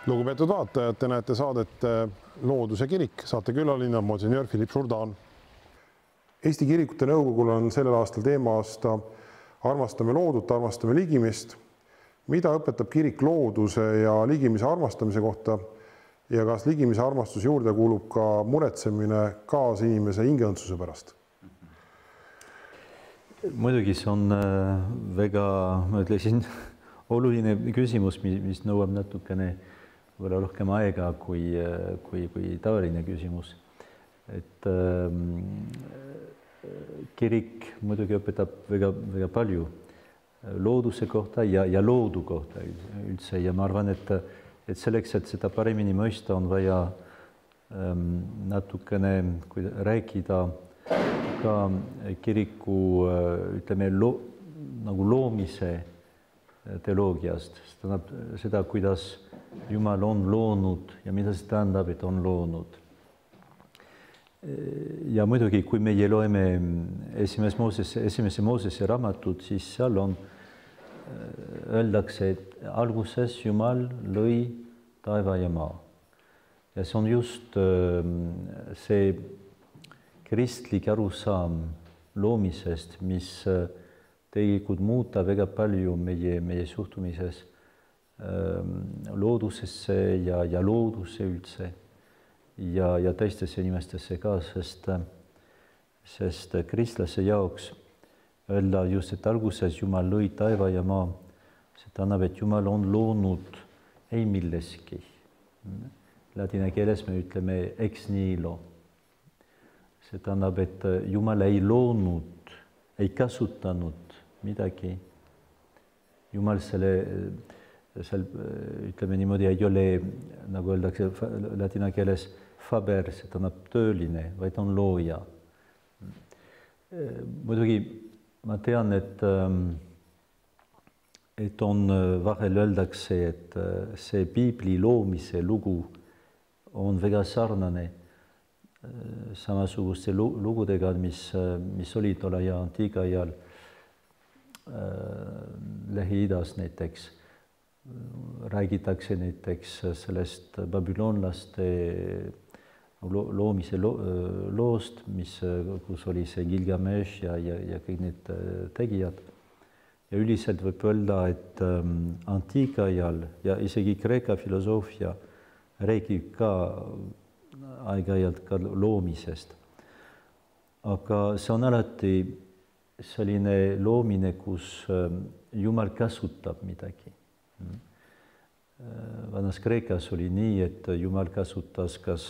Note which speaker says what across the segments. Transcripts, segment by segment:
Speaker 1: Lugupeetud vaatajad, te näete saadet Looduse kirik, saate külaline monsenjöör Philippe Jourdan. Eesti Kirikute Nõukogul on sellel aastal teema-aasta Armastame loodut, armastame ligimist. Mida õpetab kirik looduse ja ligimise armastamise kohta ja kas ligimise armastus juurde kuulub ka muretsemine kaasinimese hingeõndsuse pärast?
Speaker 2: Muidugi see on väga, ma ütlesin, oluline küsimus, mis nõuab natukene rohkem aega kui tavaline küsimus. Et kirik muidugi õpetab väga palju looduse kohta ja loodu kohta üldse. Ja ma arvan, et selleks, et seda paremini mõista, on vaja natukene rääkida ka kiriku, ütleme, nagu loomise teoloogiast, seda, kuidas Jumal on loonud ja mida see tähendab, et on loonud. Ja muidugi, kui meie loeme esimese Moosese raamatut, siis seal on, öeldakse, et alguses Jumal lõi taeva ja maa. Ja see on just see kristlik arusaam loomisest, mis tegelikult muuta väga palju meie suhtumises loodusesse ja looduse üldse ja teistesse inimestesse ka, sest kristlase jaoks öelda just, et alguses Jumal lõi taeva ja maa, see tähendab, et Jumal on loonud ei milleski. Ladina keeles me ütleme ex nihilo. See tähendab, et Jumal ei loonud, ei kasutanud midagi. Jumal seal, ütleme niimoodi, ei ole, nagu öeldakse ladina keeles, faber, see tähendab tööline, vaid on looja. Muidugi ma tean, et on vahel öeldakse, et see piibli loomise lugu on väga sarnane samasuguste lugudega, mis olid tolle ja antiikajal Lähi-Idas näiteks. Räägitakse näiteks sellest babylonlaste loomise loost, kus oli see Gilgamesh ja kõik need tegijad. Ja üldiselt võib öelda, et antiikajal ja isegi Kreeka filosoofia räägib ka aeg-ajalt ka loomisest. Aga see on alati selline loomine, kus Jumal kasutab midagi. Vanas Kreekas oli nii, et Jumal kasutas, kas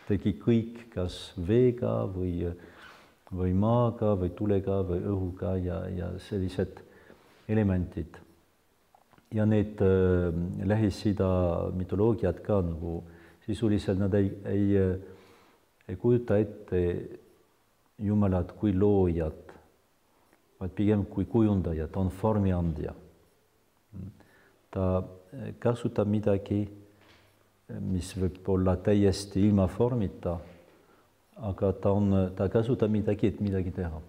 Speaker 2: tegi kõik, kas veega või maaga või tulega või õhuga ja sellised elemendid. Ja need Lähis-Ida mütoloogiad ka nagu sisuliselt nad ei kujuta ette Jumalat kui loojat, vaid pigem kui kujundajat, on formiandja. Ta kasutab midagi, mis võib olla täiesti ilma formita, aga ta kasutab midagi, et midagi teha.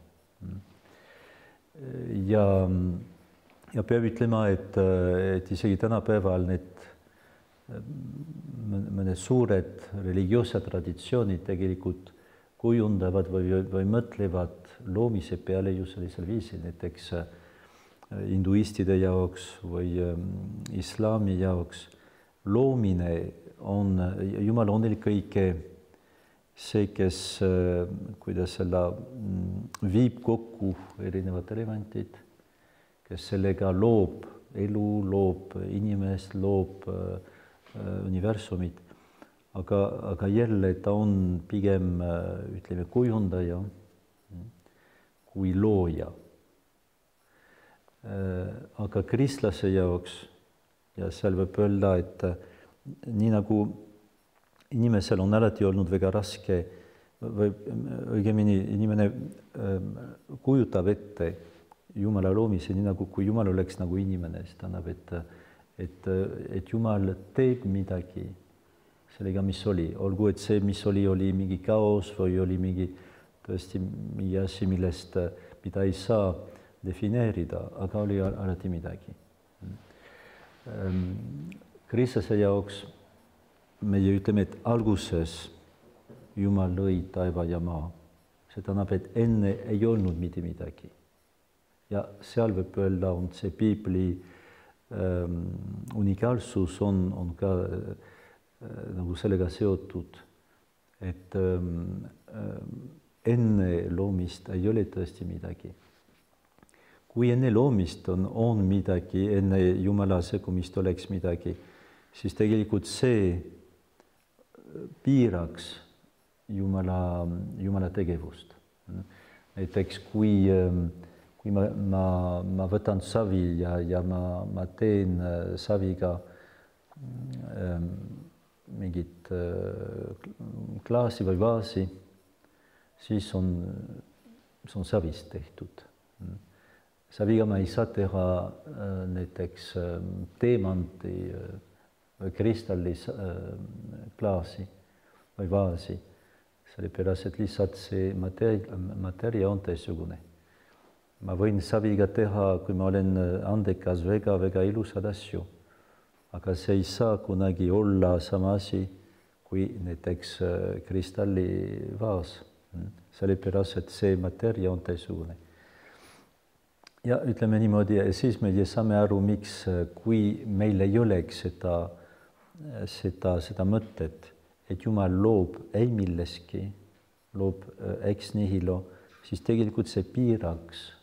Speaker 2: Ja peab ütlema, et isegi tänapäeval mõned suured religioossed traditsioonid tegelikult kujundavad või mõtlevad loomise peale ju sellisel viisil, näiteks hinduistide jaoks või islami jaoks loomine on, Jumal on eelkõige see, kes, kuidas seda viib kokku erinevad elemendid, kes sellega loob elu, loob inimest, loob universumit, aga jälle ta on pigem, ütleme, kujundaja kui looja. Aga kristlase jaoks, ja seal võib öelda, et nii nagu inimesel on alati olnud väga raske, või õigemini inimene kujutab ette Jumala loomise, nii nagu kui Jumal oleks nagu inimene, see tähendab, et Jumal teeb midagi sellega, mis oli. Olgu, et see, mis oli mingi kaos või oli tõesti mingi asi, mida ei saa defineerida, aga oli alati midagi. Kristlase jaoks meie ütleme, et alguses Jumal lõi taeva ja maa. See tähendab, et enne ei olnud mitte midagi. Ja seal võib öelda, on see piibli unikaalsus on ka nagu sellega seotud, et enne loomist ei ole tõesti midagi. Kui enne loomist on midagi, enne Jumala sekkumist oleks midagi, siis tegelikult see piiraks Jumala tegevust. Näiteks kui ma võtan savi ja ma teen saviga mingit klaasi või vaasi, siis on savist tehtud. Saviga ma ei saa teha näiteks teemanti või kristallis klaasi või vaasi, sellepärast et lihtsalt see mateeria on teistsugune. Ma võin saviga teha, kui ma olen andekas, väga ilusad asju, aga see ei saa kunagi olla sama asi kui näiteks kristallivaas, sellepärast et see mateeria on teistsugune. Ja ütleme niimoodi, siis me saame aru, miks, kui meil ei oleks seda mõtet, et Jumal loob ei milleski, loob ex nihilo, siis tegelikult see piiraks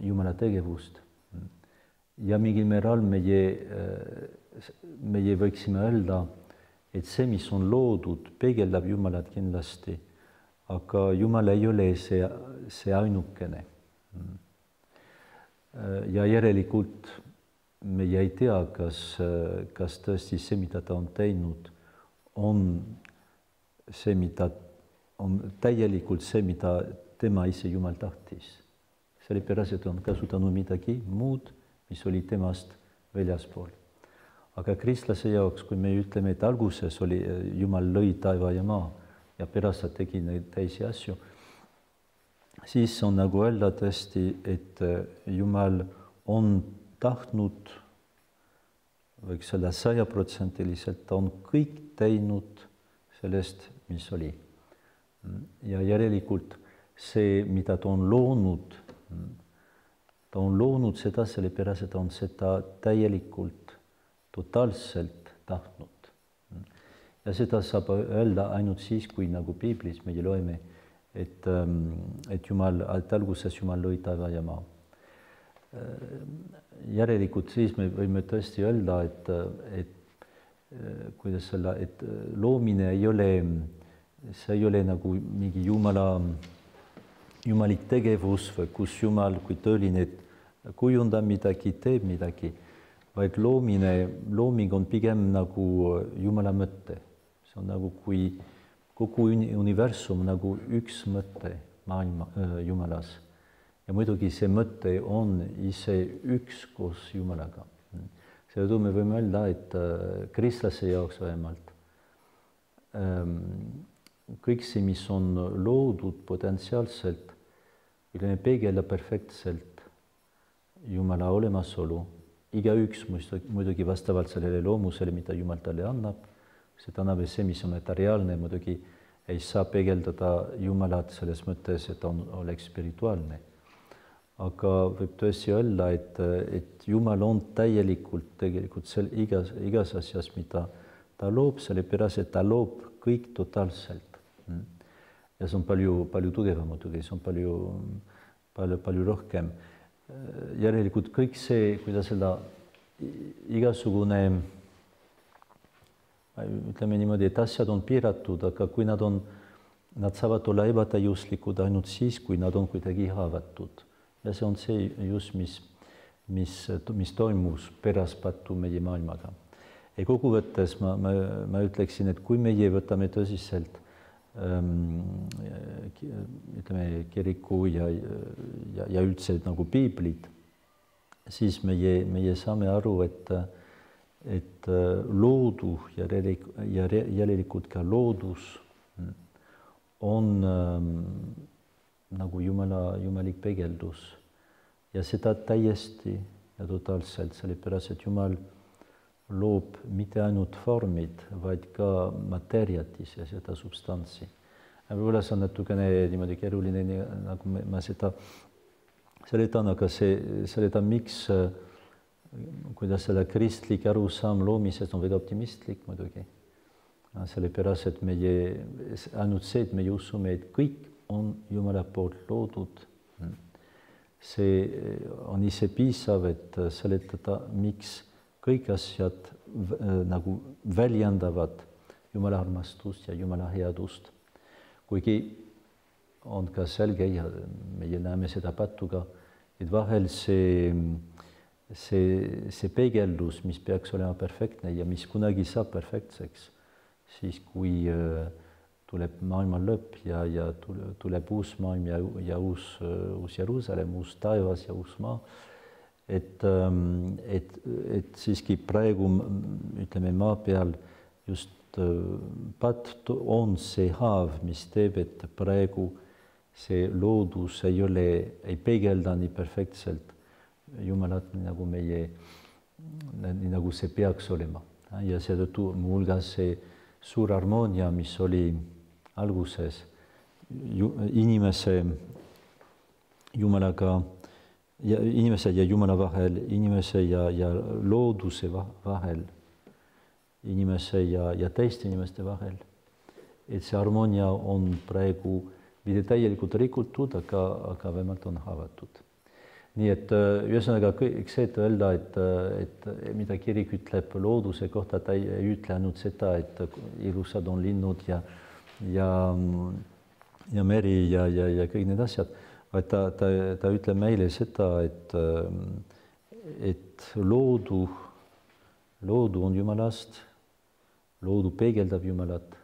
Speaker 2: Jumala tegevust. Ja mingil määral meie võiksime öelda, et see, mis on loodud, peegeldab Jumalat kindlasti, aga Jumal ei ole see ainukene. Ja järelikult meie ei tea, kas tõesti see, mida ta on teinud, on see, mida on täielikult see, mida tema ise Jumal tahtis. Sellepärast, et on kasutanud midagi muud, mis oli temast väljaspool. Aga kristlase jaoks, kui me ütleme, et alguses oli Jumal lõi taeva ja maa ja pärast ta tegi neid teisi asju, siis on nagu öelda tõesti, et Jumal on tahtnud, võiks öelda 100%, ta on kõik teinud sellest, mis oli. Ja järelikult see, mida ta on loonud seda sellepärast, et ta on seda täielikult, totaalselt tahtnud. Ja seda saab öelda ainult siis, kui nagu piiblis meie loeme, et alguses Jumal lõi taeva ja maa. Järelikult siis me võime tõesti öelda, et loomine ei ole nagu mingi jumalik tegevus või kus Jumal kui tõeline kujundab midagi, teeb midagi, vaid looming on pigem nagu Jumala mõte. See on nagu kui kogu universum nagu üks mõte maailma Jumalas. Ja muidugi see mõte on ise üks koos Jumalaga. Seetõttu me võime öelda, et kristlase jaoks vähemalt kõik see, mis on loodud potentsiaalselt, peegeldab perfektselt Jumala olemasolu. Igaüks muidugi vastavalt sellele loomusele, mida Jumal talle annab, see tähendab, et see, mis on materiaalne, muidugi ei saa peegeldada Jumalat selles mõttes, et oleks spirituaalne. Aga võib tõesti öelda, et Jumal on täielikult igas asjas, mida ta loob, sellepärast, et ta loob kõik totaalselt. Ja see on palju tugevam muidugi, see on palju rohkem. Järelikult kõik see, kuidas seda igasugune, ütleme niimoodi, et asjad on piiratud, aga kui nad saavad olla ebatäiuslikud ainult siis, kui nad on kuidagi haavatud. Ja see on see just, mis toimus pärast pattu meie maailmaga. Ja kokkuvõttes ma ütleksin, et kui meie võtame tõsiselt ütleme, kiriku ja üldse nagu piiblid, siis meie saame aru, et loodu ja järelikult ka loodus on nagu jumalik peegeldus. Ja seda täiesti ja totaalselt, sellepärast, et Jumal loob mitte ainult vormid, vaid ka materjat ise, seda substantsi. Võib-olla see on natukene niimoodi keeruline, nagu ma seda seletan, aga seletan, miks, kuidas selle kristlik arusaam loomisest on väga optimistlik muidugi. Sellepärast, et ainult see, et meie usume, et kõik on Jumala poolt loodud. See on ise piisav, et seletada, miks kõik asjad nagu väljendavad Jumala armastust ja Jumala headust. Kuigi on ka selge ja meie näeme seda patuga, et vahel see peegeldus, mis peaks olema perfektne ja mis kunagi saab perfektseks, siis kui tuleb maailma lõpp ja tuleb uus maailm ja uus Jeruusalemm, uus taevas ja uus maa, et siiski praegu, ütleme, maa peal just patt on see haav, mis teeb, et praegu see loodus ei peegelda nii perfektselt Jumalat, nagu see peaks olema. Ja seetõttu muuhulgas see suur harmoonia, mis oli alguses inimese Jumalaga, inimese ja Jumala vahel, inimese ja looduse vahel, inimese ja teiste inimeste vahel. Et see harmoonia on praegu mitte täielikult rikutud, aga vähemalt on haavatud. Nii et ühesõnaga kõik see, et öelda, et mida kirik ütleb looduse kohta, ta ei ütle ainult seda, et ilusad on linnud ja meri ja kõik need asjad, vaid ta ütleb meile seda, et loodu on Jumalast, loodu peegeldab Jumalat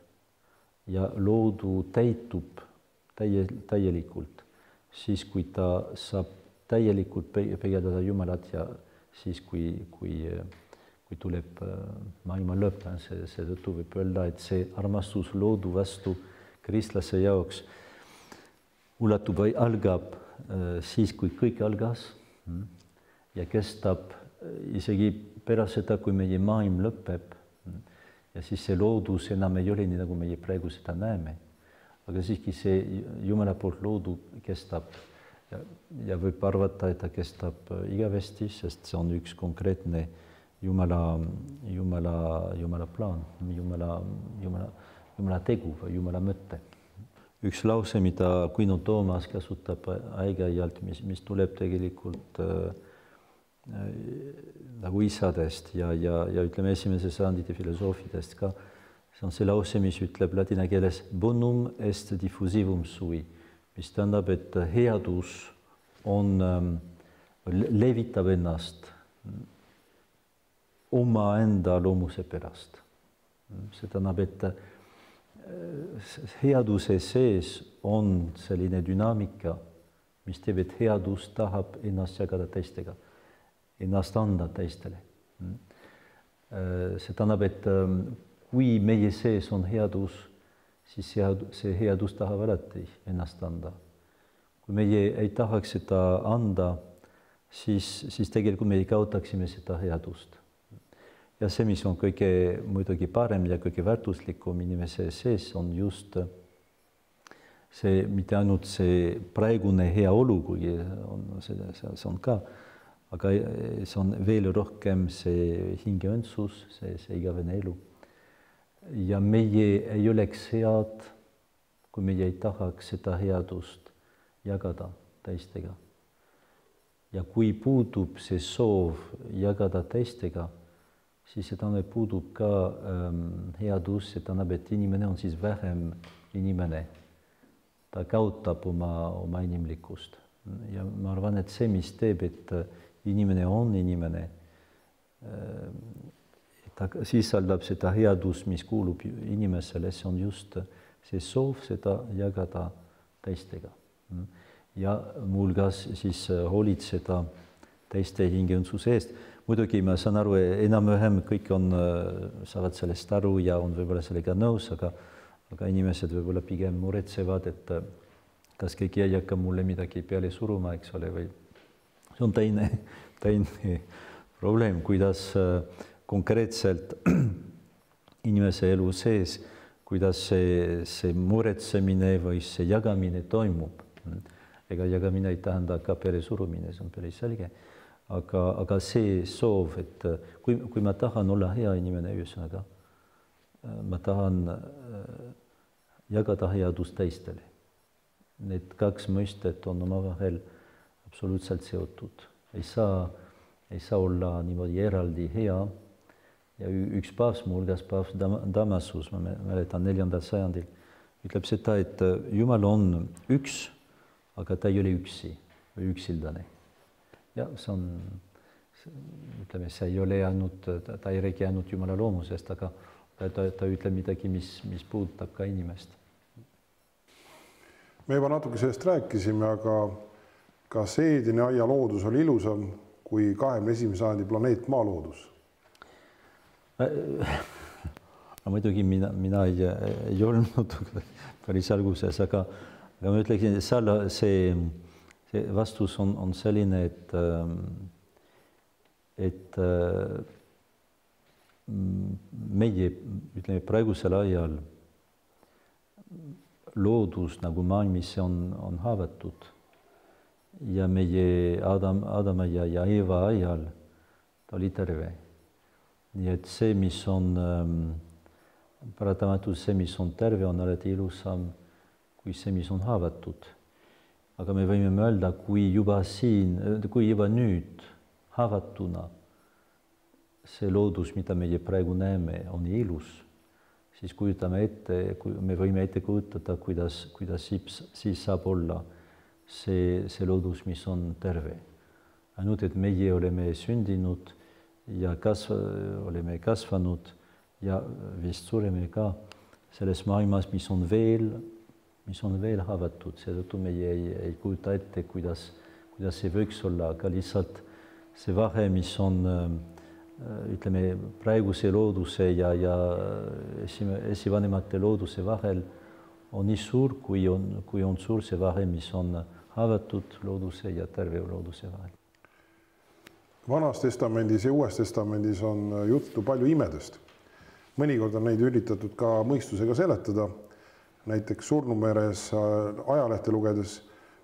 Speaker 2: ja loodu täitub täielikult, siis kui ta saab täielikult peegeldada Jumalat ja siis kui tuleb maailma lõpp, seetõttu võib öelda, et see armastus loodu vastu kristlase jaoks ulatub või algab siis, kui kõik algas ja kestab isegi pärast seda, kui meie maailm lõpeb. Ja siis see loodus enam ei ole nii, nagu meie praegu seda näeme. Aga siiski see Jumala poolt loodu kestab ja võib arvata, et ta kestab igavesti, sest see on üks konkreetne Jumala plaan, Jumala tegu või Jumala mõte. Üks lause, mida Quino Toomas kasutab aeg-ajalt, mis tuleb tegelikult nagu isadest ja ütleme esimese sajandite filosoofidest ka, see on see lause, mis ütleb ladina keeles bonum est diffusivum sui, mis tähendab, et headus levitab ennast omaenda loomuse pärast. See tähendab, et headuse sees on selline dünaamika, mis teeb, et headus tahab ennast jagada teistega, ennast anda teistele. See tähendab, et kui meie sees on headus, siis see headus tahab alati ennast anda. Kui meie ei tahaks seda anda, siis tegelikult me kaotaksime seda headust. Ja see, mis on kõige muidugi parem ja kõige väärtuslikum inimese sees, on just see, mitte ainult see praegune hea olu, kuigi see on ka, aga see on veel rohkem see hingeõndsus, see igavene elu. Ja meie ei oleks head, kui meie ei tahaks seda headust jagada teistega. Ja kui puudub see soov jagada teistega, siis see tähendab, puudub ka headus, see tähendab, et inimene on siis vähem inimene. Ta kaotab oma inimlikkust. Ja ma arvan, et see, mis teeb, et inimene on inimene, ta sisaldab seda headus, mis kuulub inimesele, see on just see soov seda jagada teistega. Ja muuhulgas siis hoolitseda teiste hingeõndsuse eest. Muidugi ma saan aru, enam-vähem kõik saavad sellest aru ja on võib-olla sellega nõus, aga inimesed võib-olla pigem muretsevad, et kas keegi ei hakka mulle midagi peale suruma, eks ole, või see on teine probleem, kuidas konkreetselt inimese elu sees, kuidas see muretsemine või see jagamine toimub. Ega jagamine ei tähenda ka peresurumine, see on päris selge. Aga see soov, et kui ma tahan olla hea inimene, ühesõnaga, ma tahan jagada headust teistele. Need kaks mõistet on omavahel absoluutselt seotud. Ei saa olla niimoodi eraldi hea. Ja üks paavs, muuhulgas paavs Damasus, ma mäletan 4. sajandil, ütleb seda, et Jumal on üks, aga ta ei ole üksi või üksildane. Ja see on, ütleme, see ei ole ainult, ta ei räägi ainult Jumala loomusest, aga ta ütleb midagi, mis puudutab ka inimest.
Speaker 1: Me juba natuke sellest rääkisime, aga kas Eedeni aia loodus oli ilusam kui 21. sajandi planeet Maa loodus?
Speaker 2: Muidugi mina ei olnud päris alguses, aga ma ütleksin, et see vastus on selline, et meie, ütleme, praegusel ajal loodus nagu maailmis on haavatud ja meie Adama ja Eeva ajal ta oli terve. Nii et see, mis on paratamatus, see, mis on terve, on alati ilusam kui see, mis on haavatud. Aga me võime mõelda, kui juba nüüd haavatuna see loodus, mida meie praegu näeme, on ilus, siis me võime ette kujutada, kuidas siis saab olla see loodus, mis on terve. Ainult, et meie oleme sündinud ja oleme kasvanud ja vist sureme ka selles maailmas, mis on veel haavatud. Seetõttu meie ei kujuta ette, kuidas see võiks olla, aga lihtsalt see vahe, mis on, ütleme, praeguse looduse ja esivanemate looduse vahel, on nii suur, kui on suur see vahe, mis on haavatud looduse ja terve looduse vahel.
Speaker 1: Vanas testamendis ja Uues testamendis on juttu palju imedest. Mõnikord on neid üritatud ka mõistusega seletada. Näiteks Surnumeres ajalehte lugedes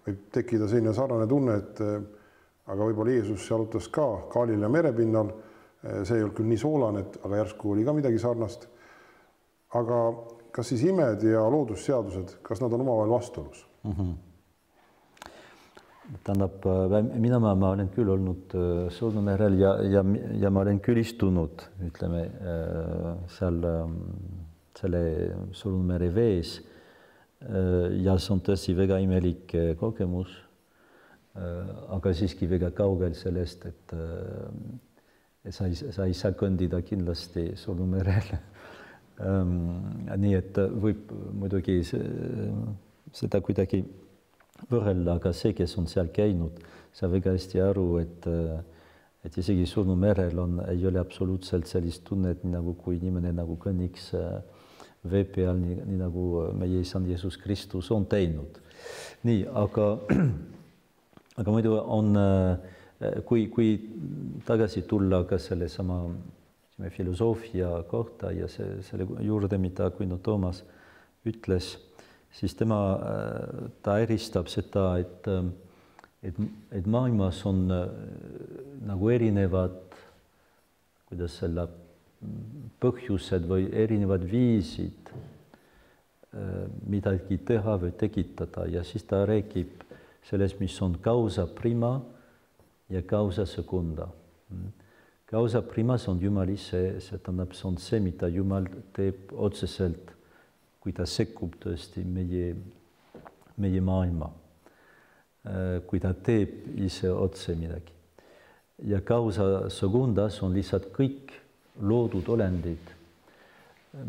Speaker 1: võib tekkida selline sarnane tunne, et aga võib-olla Jeesus jalutas ka Galilea merepinnal. See ei olnud küll nii soolane, aga järsku oli ka midagi sarnast. Aga kas siis imed ja loodusseadused, kas nad on omavahel vastuolus?
Speaker 2: Tähendab, mina ma olen küll olnud Surnumerel ja ma olen küll istunud, ütleme, seal selle Surnumere vees ja see on tõesti väga imelik kogemus, aga siiski väga kaugel sellest, et sa ei saa kõndida kindlasti Surnumerel. Nii et võib muidugi seda kuidagi võrrelda, aga see, kes on seal käinud, saab väga hästi aru, et isegi Surnumerel ei ole absoluutselt sellist tunnet, nagu kui inimene nagu kõnniks vee peal, nii nagu meie isand Jeesus Kristus on teinud. Nii, aga muidu on, kui tagasi tulla ka selle sama filosoofia kohta ja selle juurde, mida Kuino Toomas ütles, siis ta eristab seda, et maailmas on nagu erinevad, kuidas selle põhjused või erinevad viisid midagi teha või tekitada ja siis ta räägib sellest, mis on causa prima ja causa secunda. Causa prima on Jumal ise, see on see, mida Jumal teeb otseselt, kui ta sekkub tõesti meie maailma, kui ta teeb ise otse midagi. Ja causa segundas on lihtsalt kõik loodud olendid,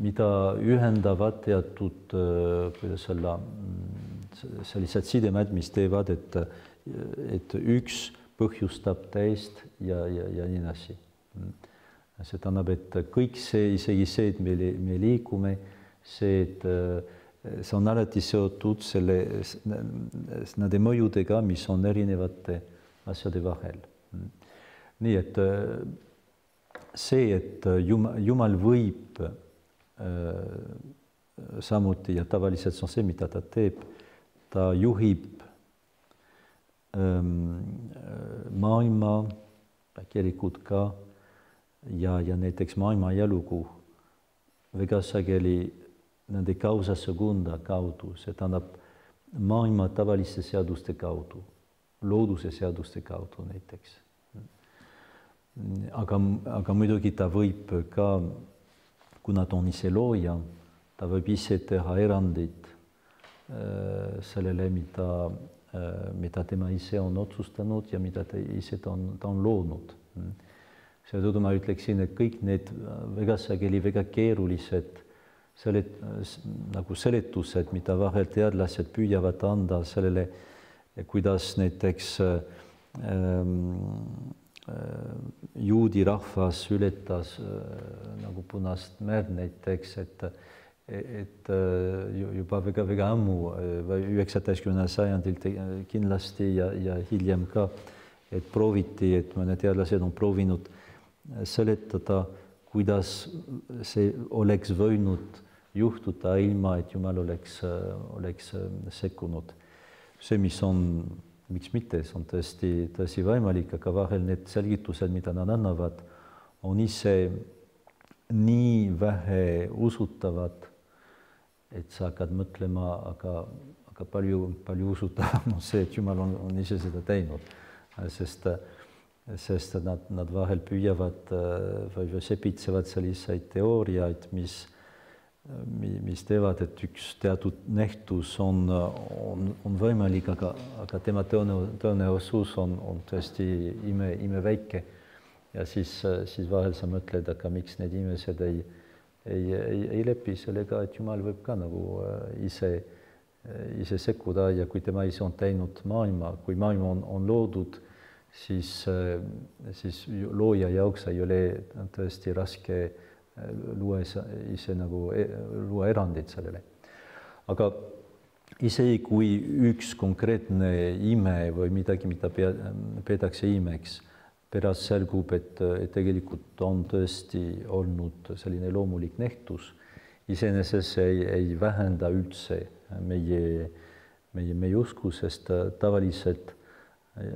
Speaker 2: mida ühendavad teatud, kuidas olla, sellised sidemed, mis teevad, et üks põhjustab teist ja nii edasi. See tähendab, et kõik see, isegi see, et me liigume, see on alati seotud nende mõjudega, mis on erinevate asjade vahel. Nii et see, et Jumal võib samuti ja tavaliselt see on see, mida ta teeb, ta juhib maailma, kirikut ka ja näiteks maailma elugu väga sageli nende causa secunda kaudu, see tähendab maailma tavaliste seaduste kaudu, looduse seaduste kaudu näiteks. Aga muidugi ta võib ka, kuna ta on ise looja, ta võib ise teha erandid sellele, mida tema ise on otsustanud ja mida ta ise ta on loonud. Seetõttu ma ütleksin, et kõik need väga sageli väga keerulised nagu seletused, mida vahel teadlased püüavad anda sellele, kuidas näiteks juudi rahvas ületas nagu Punast merd näiteks, et juba väga ammu, 19. sajandil kindlasti ja hiljem ka, et prooviti, et mõned teadlased on proovinud seletada, kuidas see oleks võinud juhtuda ilma, et Jumal oleks sekkunud. See, mis on, miks mitte, see on tõesti võimalik, aga vahel need selgitused, mida nad annavad, on ise nii vähe usutavad, et sa hakkad mõtlema, aga palju usutavam on see, et Jumal on ise seda teinud, sest nad vahel püüavad või sepitsevad selliseid teooriaid, mis teevad, et üks teatud nähtus on võimalik, aga tema tõenäosus on tõesti imeväike. Ja siis vahel sa mõtled, aga miks need inimesed ei lepi sellega, et Jumal võib ka nagu ise sekkuda ja kui tema ise on teinud maailma, kui maailma on loodud, siis looja jaoks ei ole tõesti raske luua ise nagu luua erandid sellele. Aga isegi kui üks konkreetne ime või midagi, mida peetakse imeks, pärast selgub, et tegelikult on tõesti olnud selline loomulik nähtus, iseenesest ei vähenda üldse meie usku, sest tavaliselt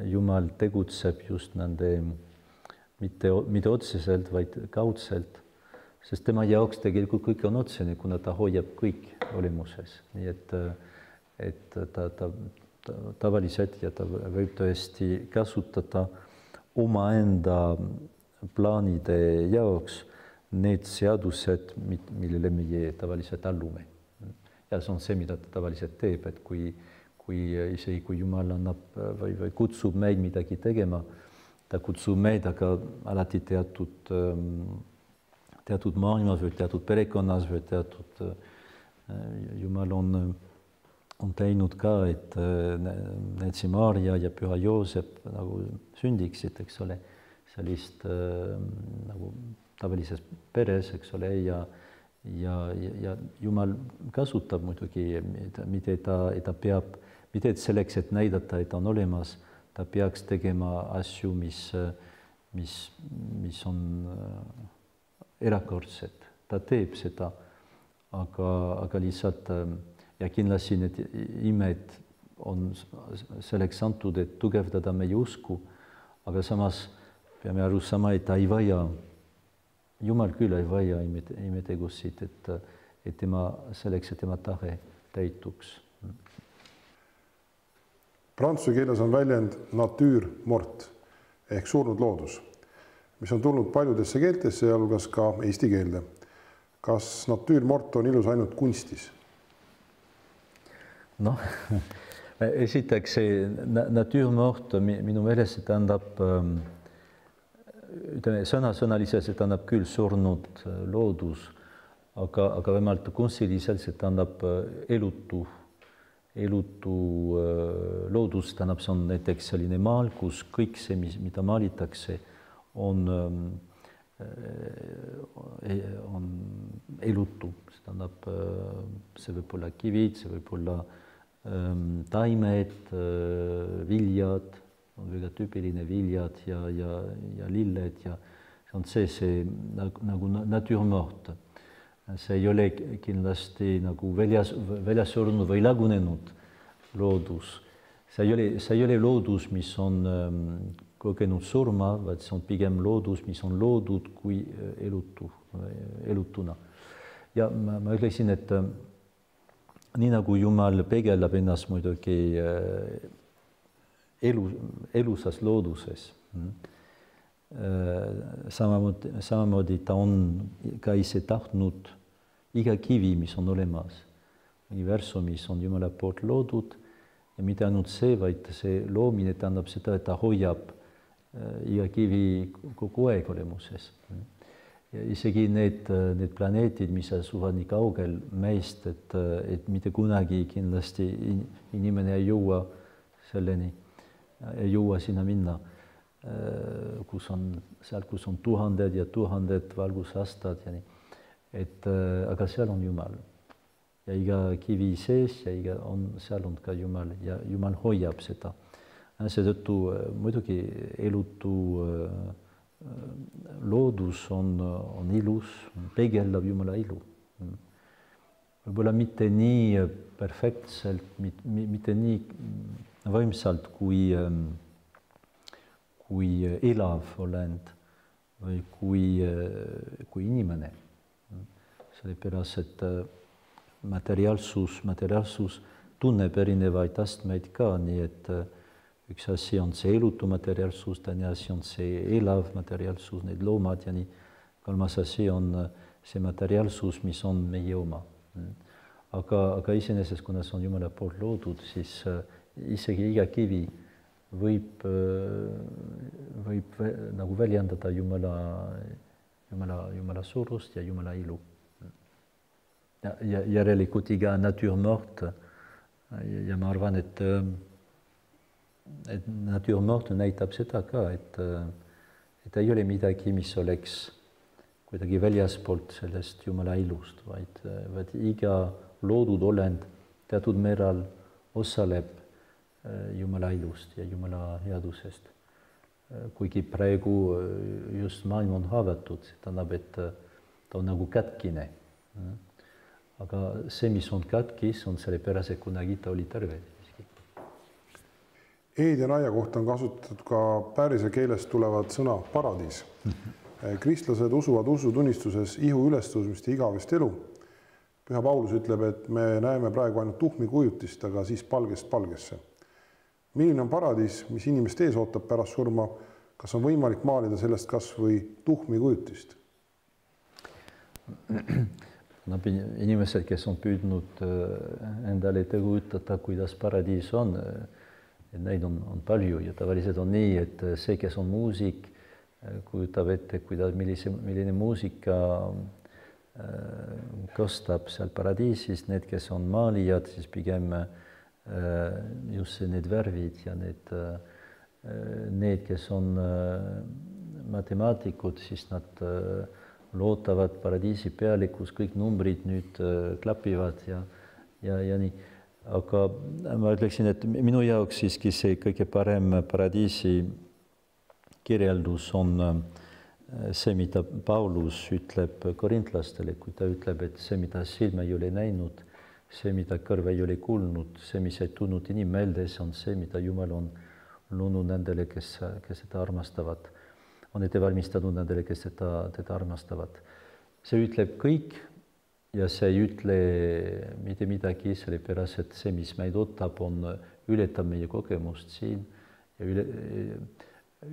Speaker 2: Jumal tegutseb just nende mitte otseselt, vaid kaudselt, sest tema jaoks tegelikult kõik on otsene, kuna ta hoiab kõik olemuses. Nii et ta tavaliselt ja ta võib tõesti kasutada omaenda plaanide jaoks need seadused, millele meie tavaliselt allume. Ja see on see, mida ta tavaliselt teeb, et isegi kui Jumal annab või kutsub meid midagi tegema, ta kutsub meid aga alati teatud maailmas või teatud perekonnas või Jumal on teinud ka, et Neitsi Maarja ja Püha Joosep nagu sündiksid, eks ole, sellist nagu tavalises peres, eks ole, ja Jumal kasutab muidugi, mida ta peab, mitte selleks, et näidata, et ta on olemas, ta peaks tegema asju, mis on erakordsed. Ta teeb seda, aga lihtsalt ja kindlasti need imed on selleks antud, et tugevdada meie usku, aga samas peame aru saama, et ta ei vaja, Jumal küll ei vaja imetegusid, et tema selleks, et tema tahe täituks.
Speaker 1: Prantsuse keeles on väljend nature mort ehk surnud loodus, mis on tulnud paljudesse keeltesse, sealhulgas ka eesti keelde. Kas nature mort on ilus ainult kunstis?
Speaker 2: Noh, esiteks see nature mort minu meelest see tähendab, sõnasõnaliselt see tähendab küll surnud loodus, aga vähemalt kunstiliselt see tähendab elutu loodus, tähendab, see on näiteks selline maal, kus kõik see, mida maalitakse, on elutu, see tähendab, see võib olla kivid, see võib olla taimed, viljad, on väga tüüpiline viljad ja lilled ja on see nagu nature morte. See ei ole kindlasti nagu väljas surnud või lagunenud loodus. See ei ole loodus, mis on kogenud surma, vaid see on pigem loodus, mis on loodud kui elutuna. Ja ma ütleksin, et nii nagu Jumal peegeldab ennast muidugi elusas looduses, samamoodi ta on ka ise tahtnud iga kivi, mis on olemas, universum, mis on Jumala poolt loodud, ja mitte ainult see, vaid see loomine tähendab seda, et ta hoiab iga kivi kogu aeg olemuses. Ja isegi need planeetid, mis asuvad nii kaugel meist, et mitte kunagi kindlasti inimene ei jõua selleni, ei jõua sinna minna, kus on tuhanded ja tuhanded valgusaastad ja nii. Aga seal on Jumal. Ja iga kivi sees ja seal on ka Jumal ja Jumal hoiab seda. Seetõttu muidugi elutu loodus on ilus, peegeldab Jumala ilu. Võib-olla mitte nii perfektselt, mitte nii võimsalt kui elav olend või kui inimene. Sellepärast, et materiaalsus tunneb erinevaid astmeid ka, nii et üks asi on see elutu materiaalsus, teine asi on see elav materiaalsus, need loomad ja nii. Kolmas asi on see materiaalsus, mis on meie oma. Aga iseenesest, kuna see on Jumala poolt loodud, siis isegi iga kivi võib nagu väljendada Jumala suurust ja Jumala ilu. Ja järelikult iga nature morte ja ma arvan, et nature morte näitab seda ka, et ei ole midagi, mis oleks kuidagi väljaspoolt sellest Jumala ilust, vaid iga loodud olend teatud määral osaleb Jumala ilust ja Jumala headusest. Kuigi praegu just maailm on haavatud, see tähendab, et ta on nagu katkine. Aga see, mis on katkis, on sellepärast, et kunagi ta oli terve.
Speaker 1: Eeden aia kohta on kasutatud ka pärise keelest tulevad sõna paradiis. Kristlased usuvad usutunnistuses ihu ülestõusmist ja igavest elu. Püha Paulus ütleb, et me näeme praegu ainult tuhmi kujutist, aga siis palgest palgesse. Milline on paradiis, mis inimest ees ootab pärast surma? Kas on võimalik maalida sellest kas või tuhmi kujutist?
Speaker 2: Inimesed, kes on püüdnud endale kujutada, kuidas paradiis on, neid on palju ja tavaliselt on nii, et see, kes on muusik, kujutab ette, milline muusika kostab seal paradiisis, need, kes on maalijad, siis pigem just need värvid ja need, kes on matemaatikud, siis nad loodavad paradiisi peale, kus kõik numbrid nüüd klapivad ja nii. Aga ma ütleksin, et minu jaoks siiski see kõige parem paradiisi kirjeldus on see, mida Paulus ütleb korintlastele, kui ta ütleb, et see, mida silm ei ole näinud, see, mida kõrv ei ole kuulnud, see, mis ei tulnud inimmeeldes, on see, mida Jumal on loonud nendele, kes seda armastavad. On ette valmistanud nendele, kes teda armastavad. See ütleb kõik ja see ei ütle mitte midagi, sellepärast, et see, mis meid ootab, ületab meie kogemust siin ja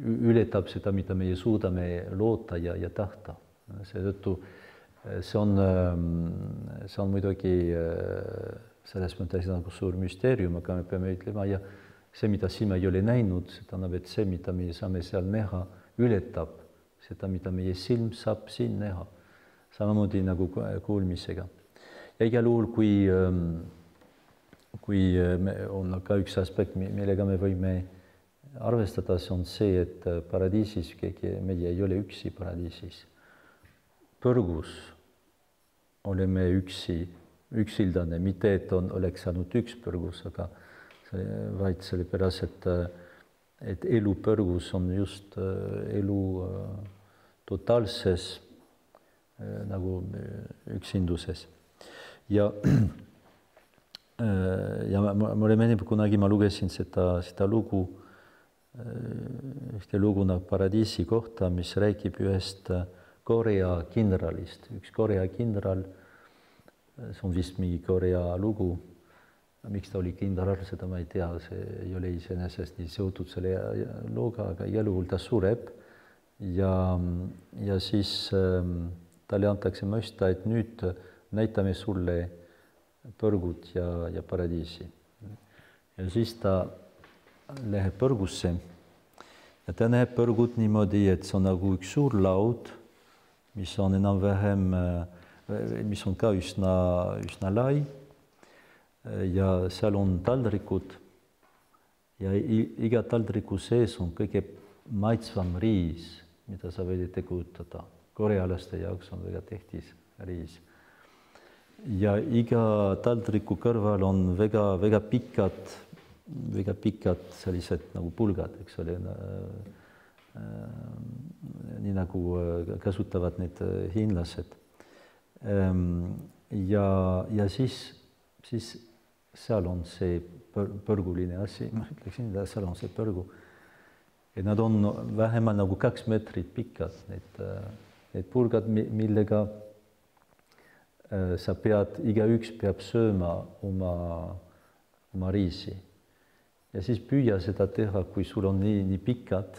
Speaker 2: ületab seda, mida meie suudame loota ja tahta. Seetõttu see on muidugi selles mõttes nagu suur müsteerium, aga me peame ütlema, ja see, mida silm ei ole näinud, see tähendab, et see, mida me saame seal näha, ületab seda, mida meie silm saab siin näha. Samamoodi nagu kuulmisega. Ja igal juhul, kui on ka üks aspekt, millega me võime arvestada, see on see, et paradiisis meie ei ole üksi paradiisis. Põrgus oleme üksildane, mitte et oleks ainult üks põrgus, aga vaid sellepärast, et elu põrgus on just elu totaalses nagu üksinduses. Ja mulle meenib, kunagi ma lugesin seda lugu, ühte lugu nagu Paradiisi kohta, mis räägib ühest Korea kindralist. Üks Korea kindral, see on vist mingi Korea lugu, miks ta oli kindral, seda ma ei tea, see ei ole iseenesest nii seotud selle looga, aga igal juhul ta sureb ja siis talle antakse mõista, et nüüd näitame sulle põrgut ja paradiisi. Ja siis ta läheb põrgusse ja ta näeb põrgut niimoodi, et see on nagu üks suur laud, mis on enam-vähem, mis on ka üsna lai ja seal on taldrikud ja iga taldriku sees on kõige maitsvam riis, mida sa võid ette kujutada. Korealaste jaoks on väga tähtis riis. Ja iga taldriku kõrval on väga pikad sellised nagu pulgad, eks ole, nii nagu kasutavad need hiinlased. Ja siis seal on see põrguline asi, ma ütleksin, seal on see põrgu. Ja nad on vähemalt nagu 2 meetrit pikad, need pulgad, millega sa igaüks peab sööma oma riisi. Ja siis püüa seda teha, kui sul on nii pikad,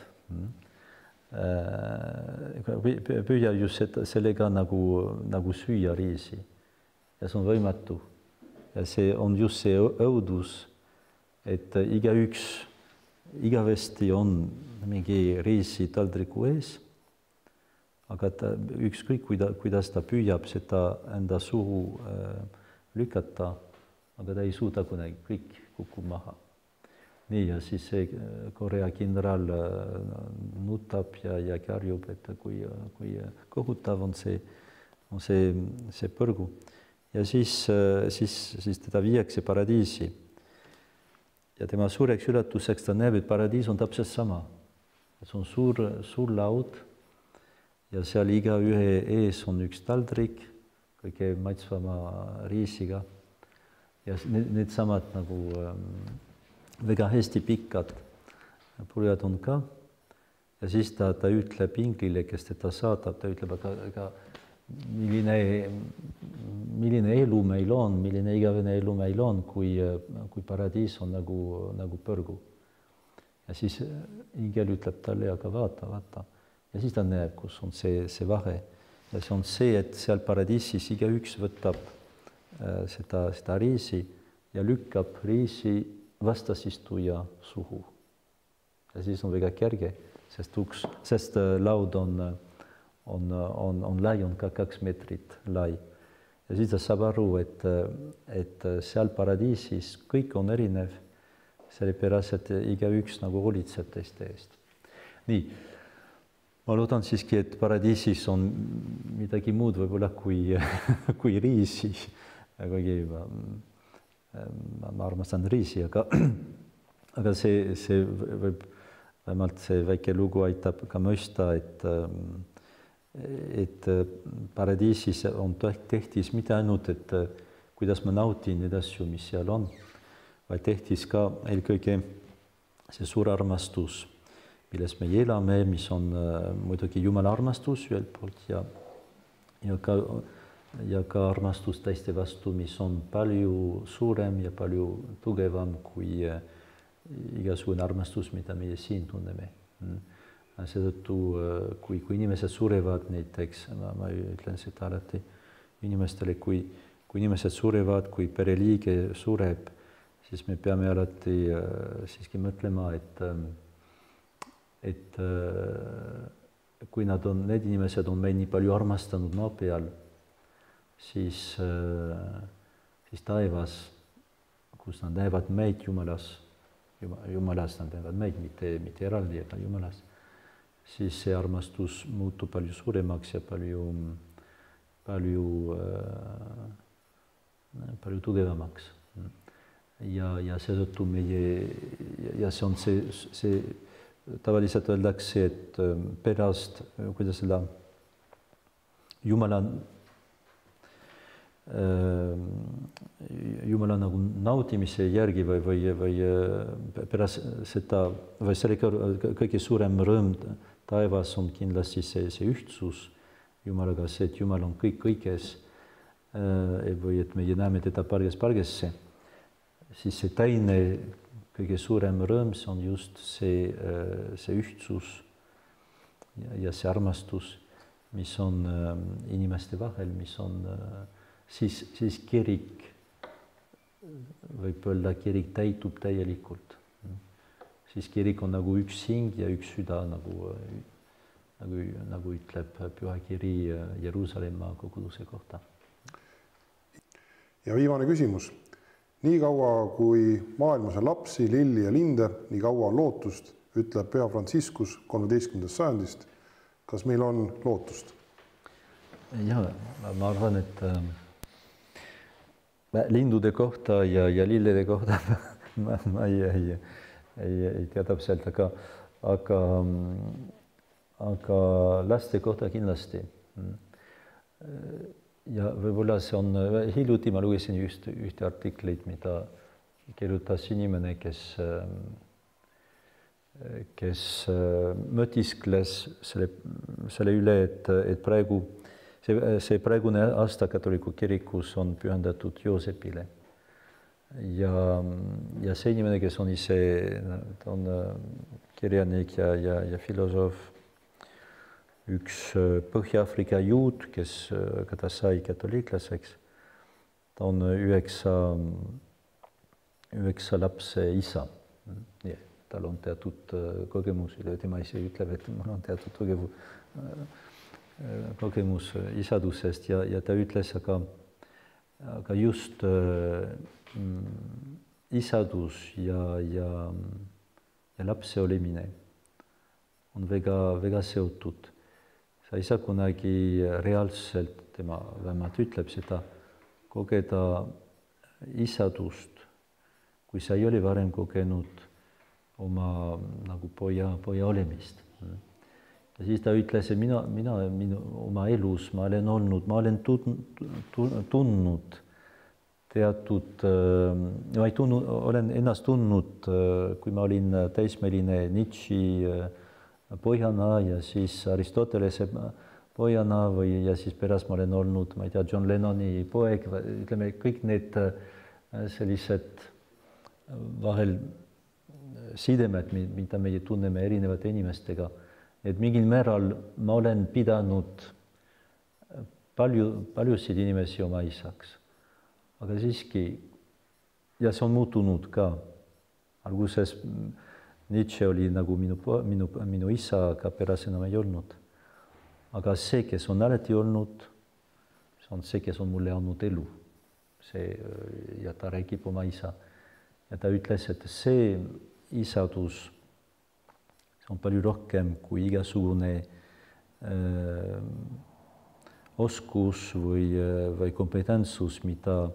Speaker 2: püüa just sellega nagu süüa riisi. Ja see on võimatu. Ja see on just see õudus, et igavesti on mingi riisi taldriku ees, aga ükskõik, kuidas ta püüab seda enda suhu lükata, aga ta ei suuda kunagi, kõik kukub maha. Nii, ja siis see Korea kindral nutab ja karjub, et kui kohutav on see põrgu. Ja siis teda viiakse paradiisi. Ja tema suureks üllatuseks ta näeb, et paradiis on täpselt sama. See on suur laud ja seal igaühe ees on üks taldrik, kõige maitsvama riisiga. Ja need samad nagu väga hästi pikad pulgad on ka. Ja siis ta ütleb inglile, kes teda saadab, ta ütleb, aga milline elu meil on, milline igavene elu meil on, kui paradiis on nagu põrgu. Ja siis ingel ütleb talle, aga vaata. Ja siis ta näeb, kus on see vahe. Ja see on see, et seal paradiisis igaüks võtab seda riisi ja lükkab riisi vastasistuja suhu. Ja siis on väga kerge, sest laud on lai, on ka 2 meetrit lai. Ja siis ta saab aru, et seal paradiisis kõik on erinev, sellepärast, et igaüks nagu hoolitseb teiste eest. Nii, ma loodan siiski, et paradiisis on midagi muud võib-olla kui riisi. Kuigi ma armastan riisi, aga see võib, vähemalt see väike lugu aitab ka mõista, et paradiisis on tähtis mitte ainult, et kuidas ma nautin neid asju, mis seal on, vaid tähtis ka eelkõige see suur armastus, milles me elame, mis on muidugi Jumala armastus ühelt poolt ja ka armastus teiste vastu, mis on palju suurem ja palju tugevam kui igasugune armastus, mida meie siin tunneme. Seetõttu, kui inimesed surevad näiteks, ma ütlen seda alati inimestele, kui inimesed surevad, kui pereliige sureb, siis me peame alati siiski mõtlema, et kui need inimesed on meid nii palju armastanud maa peal, siis taevas, kus nad näevad meid Jumalas nad näevad meid, mitte eraldi, aga Jumalas, siis see armastus muutub palju suuremaks ja palju tugevamaks. Ja seetõttu ja see on see tavaliselt öeldakse, et pärast, kuidas seda Jumala nagu naudimise järgi või pärast seda või selle kõige suurem rõõm taevas on kindlasti see ühtsus Jumalaga, see, et Jumal on kõik kõiges või et meie näeme teda pargesse, siis see teine kõige suurem rõõm on just see ühtsus ja see armastus, mis on inimeste vahel, mis on siis kirik, võib öelda, kirik täitub täielikult. Siis kirik on nagu üks hing ja üks süda, nagu ütleb pühakiri Jeruusalemma koguduse kohta.
Speaker 1: Ja viimane küsimus. Nii kaua, kui maailmas on lapsi, lilli ja linde, nii kaua on lootust, ütleb Püha Franciscus 13. sajandist. Kas meil on lootust?
Speaker 2: Ja, ma arvan, et lindude kohta ja lillede kohta ma ei tea täpselt, aga laste kohta kindlasti. Ja võib-olla see on, hiljuti ma lugesin ühte artiklit, mida kirjutas inimene, kes mõtiskles selle üle, et praegu see praegune aasta katoliku kirikus on pühendatud Joosepile. Ja see inimene, kes on ise, ta on kirjanik ja filosoof, üks Põhja-Aafrika juut, keda sai katoliiklaseks, ta on 9 lapse isa. Tal on teatud kogemus, tema ise ütleb, et mul on teatud kogemus isadusest ja ta ütles, aga just isadus ja lapse olemine on väga seotud. Sa ei saa kunagi reaalselt, tema vähemalt ütleb seda, kogeda isadust, kui sa ei ole varem kogenud oma nagu poja olemist. Ja siis ta ütles, et mina oma elus ma olen tundnud teatud, olen ennast tundnud, kui ma olin täismeline Nietzsche pojana ja siis Aristotelese pojana ja siis pärast ma olen olnud, ma ei tea, John Lennoni poeg, ütleme, kõik need sellised vahel sidemed, mida meie tunneme erinevate inimestega, et mingil määral ma olen pidanud paljusid inimesi oma isaks. Aga siiski, ja see on muutunud ka. Alguses Nietzsche oli nagu minu isa, aga pärast enam ei olnud. Aga see, kes on alati olnud, see on see, kes on mulle andnud elu. Ja ta räägib oma isa. Ja ta ütles, et see isadus on palju rohkem kui igasugune oskus või kompetentsus, mida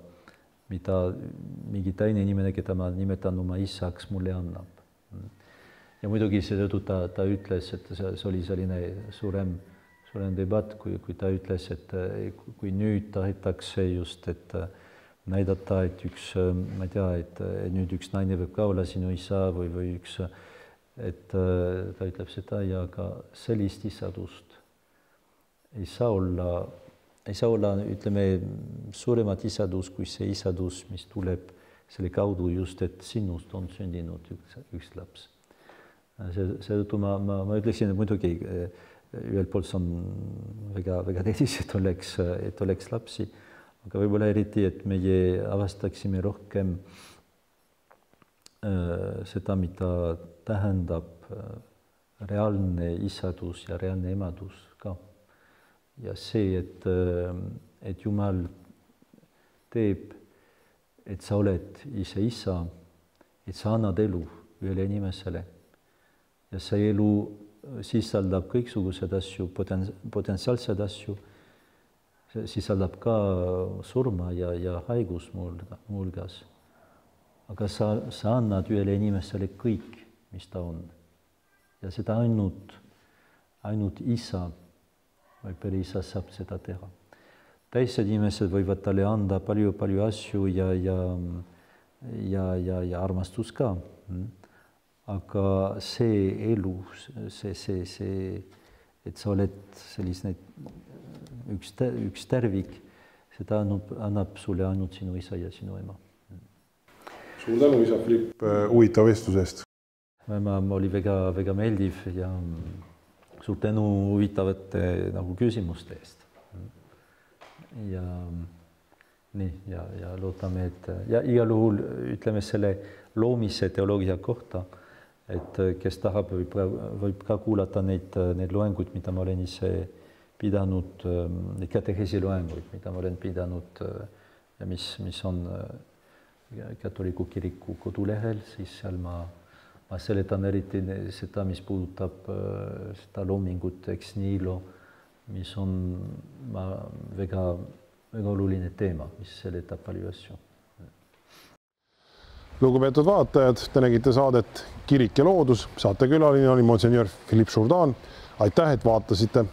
Speaker 2: mingi teine inimene, keda ma nimetan oma isaks, mulle annab. Ja muidugi seetõttu ta ütles, et see oli selline suurem debatt, kui ta ütles, et kui nüüd tahetakse just, et näidata, et ma ei tea, et nüüd üks naine võib ka olla sinu isa või üks, et ta ütleb seda ja ka sellist isadust ei saa olla, ütleme, suuremat isadus kui see isadus, mis tuleb selle kaudu just, et sinust on sündinud üks laps. Seetõttu ma ütleksin, et muidugi ühelt poolt on väga tähtis, et oleks lapsi, aga võib-olla eriti, et meie avastaksime rohkem seda, mida tähendab reaalne isadus ja reaalne emadus ka. Ja see, et Jumal teeb, et sa oled ise isa, et sa annad elu ühele inimesele. Ja see elu sisaldab kõiksugused asju, potentsiaalsed asju, sisaldab ka surma ja haigus muuhulgas. Aga sa annad ühele inimesele kõik, mis ta on. Ja seda ainult isa Perissa saab seda teha. Teised inimesed võivad talle anda palju asju ja armastus ka. Aga see elu, et sa oled selline üks tervik, seda annab sulle ainult sinu isa ja sinu ema.
Speaker 1: Suur tänu, isa Philipp, huvitava vestluse eest.
Speaker 2: Oli väga meeldiv ja suur tänu huvitavate küsimuste eest. Ja loodame, et igal juhul ütleme selle loomise teoloogia kohta, et kes tahab, võib ka kuulata neid loenguid, mida ma olen ise pidanud, neid kateheesi loenguid, mida ma olen pidanud ja mis on katoliku kiriku kodulehel, siis seal ma seletan eriti seda, mis puudutab seda loomingut ex nihilo, mis on väga oluline teema, mis seletab palju asju.
Speaker 1: Lugupeetud vaatajad, te nägite saadet Kirik ja loodus. Saatekülaline oli Monseigneur Philippe Jourdan. Aitäh, et vaatasite!